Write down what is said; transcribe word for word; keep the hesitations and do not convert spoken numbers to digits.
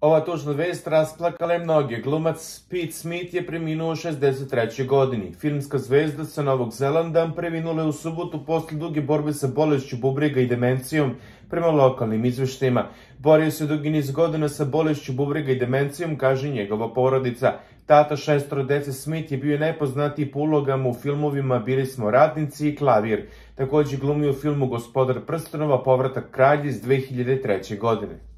Ova tužna vest rasplakala je mnoge. Glumac Pete Smith je preminuo u šezdeset trećoj godini. Filmska zvezda sa Novog Zelanda preminula je u subotu posle duge borbe sa bolešću bubrega i demencijom, prema lokalnim izveštajima. Borio se dugi niz godina sa bolešću bubrega i demencijom, kaže njegova porodica. Tata šestoro dece Smith je bio najpoznatiji po ulogama u filmovima Bili smo ratnici i Klavir. Takođe glumio u filmu Gospodar prstenova, Povratak kralja iz dve hiljade treće. godine.